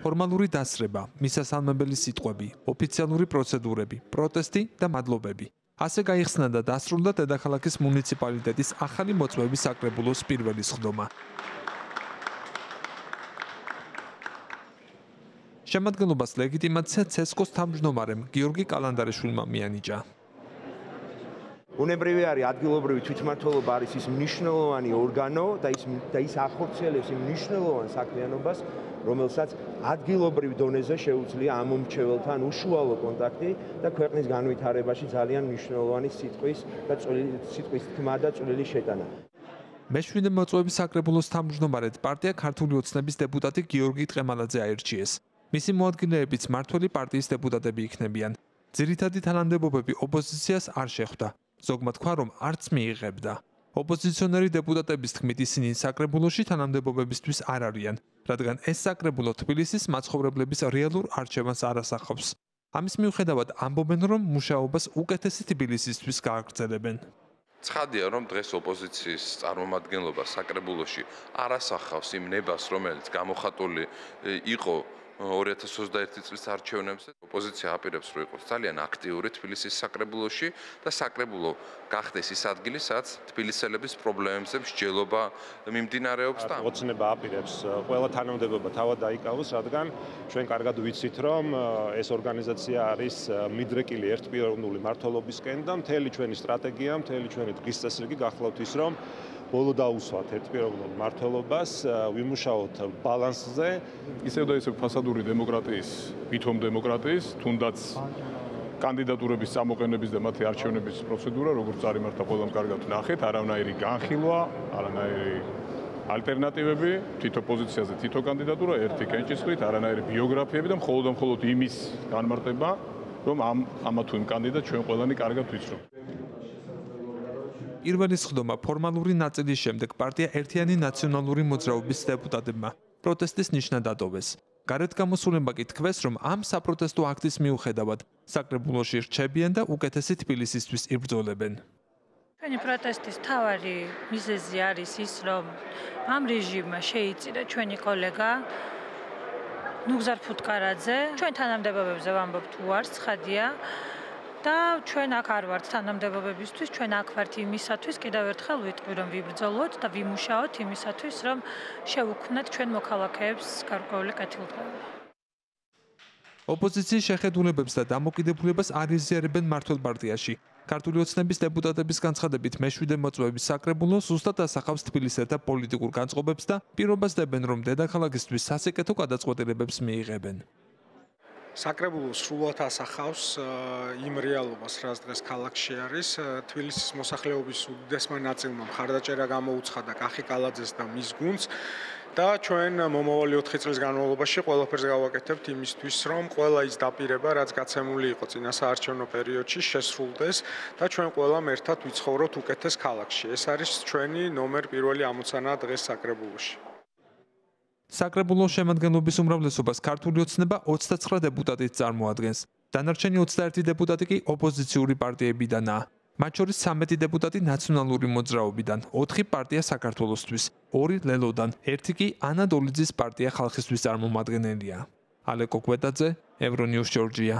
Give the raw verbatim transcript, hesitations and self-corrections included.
ფორმალური დასრება, მისასალმებელი სიტყვები, ოფიციალური პროცედურები, პროტესტი და მადლობები. ასე გაიხსნა და დასრულდა დედაქალაქის მუნიციპალიტეტის ახალი მოწვევის საკრებულოს პირველი სხდომა. შემადგენლობას ლეგიტიმაცია ცესკოს თავმჯდომარემ გიორგი კალანდარიშვილმა მიანიჭა. უნებრივი არის ადგილობრივი თვითმმართველობა არის ის მნიშვნელოვანი ორგანო და ის და ის ახორციელებს იმ მნიშვნელოვან საქმიანობას, რომელსაც ადგილობრივ დონეზე შეუძლია ამ მომრჩეველთან უშუალო კონტაქტი და ქვეყნის განვითარებაში ძალიან მნიშვნელოვანი სიტყვის და სიტყვის თქმა და წვლილი შეტანა. მეშვიდე მოწვევის საკრებულოს თავმჯდომარედ პარტია ქართული ოცნების დეპუტატი გიორგი ტყემალაძე აირჩიეს. მისი მოადგილეებიც მმართველი პარტიის დეპუტატები იქნებიან. ძირითადი თანამდებობები ოპოზიციას არ შეხვდა. ზოგმა თქვა, რომ არც მიიღებდა. ოპოზიციონერი დეპუტატების თქმით ისინი საკრებულოში თანამდებობებისთვის არ არიან, რადგან ეს საკრებულო თბილისის მაცხოვრებლების რეალურ არჩევანს არ ასახავს. ამის მიუხედავად ამბობენ, რომ მუშაობას უკეთესი თბილისისთვის გააგრძელებენ. ცხადია, რომ დღეს ოპოზიციის წარმომადგენლობა საკრებულოში არ ასახავს იმ ნებას, რომელიც გამოხატული იყო ორი ათას ოცდაერთი წლის არჩევნებზე. ოპოზიცია აპირებს, რომ იყოს ძალიან აქტიური თბილისის საკრებულოში და საკრებულო გახდეს ის ადგილი, სადაც თბილისელების პრობლემებზე მსჯელობა მიმდინარეობს და ოცნება აპირებს ყველა თანამდებობა თავად დაიკავოს, რადგან ჩვენ კარგად ვიცით, რომ ეს ორგანიზაცია არის მიდრეკილი ერთპიროვნული მმართველობისკენ და მთელი ჩვენი სტრატეგია, მთელი ჩვენი დღის წესრიგი გახლავთ ის, რომ ბოლო დაუსვათ ერთპიროვნულ მმართველობას, ვიმუშაოთ ბალანსზე. ისევ და ისევ ფასადური დემოკრატიის, ვითომ დემოკრატიის, თუნდაც კანდიდატურების წამოყენების და მათი არჩევნების პროცედურა, როგორც წარიმართა ყველამ კარგად ნახეთ, არანაირი განხილვა, არანაირი ალტერნატივები, თითო პოზიციაზე თითო კანდიდატურა, ერთი კენჭისყრით, არანაირი ბიოგრაფიები და მხოლოდ და მხოლოდ იმის განმარტება, რომ ამ ამა თუ იმ კანდიდატს ჩვენ ყველანი კარგად ვიცნობ. პირველი სხდომა ფორმალური ნაწილის შემდეგ პარტია ერთიანი ნაციონალური მოძრაობის დეპუტატებმა პროტესტის ნიშნა დატოვეს. გარეთ გამოსულებმა კი თქვეს, რომ ამ საპროტესტო აქტის მიუხედავად საკრებულოში რჩებიან და უკეთესი თბილისისთვის იბრძოლებენ. ჩვენი პროტესტის მთავარი მიზეზი არის ის, რომ ამ რეჟიმმა შეიწირა ჩვენი კოლეგა ნუგზარ ფუტკარაძე. ჩვენ თანამდებობებზე ვამბობთ უარს, ცხადია. და ჩვენ აქ არ ვართ თანამდებობებისთვის, ჩვენ აქ ვართ იმისათვის, კიდევ ერთხელ ვიტყვი, რომ ვიბრძოლოთ და ვიმუშაოთ იმისათვის, რომ შევუქმნათ ჩვენ მოქალაქეებს გარკვეული კეთილდღეობა. ოპოზიციის შეხედულებებს და დამოკიდებულებას არ იზიარებენ მმართველ პარტიაში. ქართული ოცნების დეპუტატების განცხადებით მეშვიდე მოწვევის საკრებულო ზუსტად ასახავს თბილისელთა პოლიტიკურ განწყობებს და პირობას დებენ, რომ დედაქალაქისთვის სასიკეთო გადაწყვეტილებებს მიიღებენ. საკრებულო სრულად ასახავს იმ რეალობას, რაც დღეს ქალაქში არის. თბილისის მოსახლეობის უდიდესმა ნაწილმა მხარდაჭერა გამოუცხადა კახი კალაძეს და მის გუნდს და ჩვენ მომავალი ოთხი წლის განმავლობაში ყველაფერს გავაკეთებთ იმისთვის, რომ ყველა ის დაპირება, რაც გაცემული იყო წინა საარჩევნო პერიოდში, შესრულდეს და ჩვენ ყველამ ერთად ვიცხოვროთ უკეთეს ქალაქში. ეს არის ჩვენი ნომერ პირველი ამოცანა დღეს საკრებულოში. საკრებულოს შემადგენლობის უმრავლესობას ქართული ოცნება ოცდაცხრა დეპუტატით წარმოადგენს. დანარჩენი ოცდაერთი დეპუტატი კი ოპოზიციური პარტიებიდანაა. მათ შორის ცამეტი დეპუტატი ნაციონალური მოძრაობიდან, ოთხი პარტია საქართველოსთვის, ორი ლელოდან, ერთი კი ანა დოლიძის პარტია ხალხისთვის წარმომადგენელია. ალეკო კვეტაძე, ევრონიუს ჯორჯია.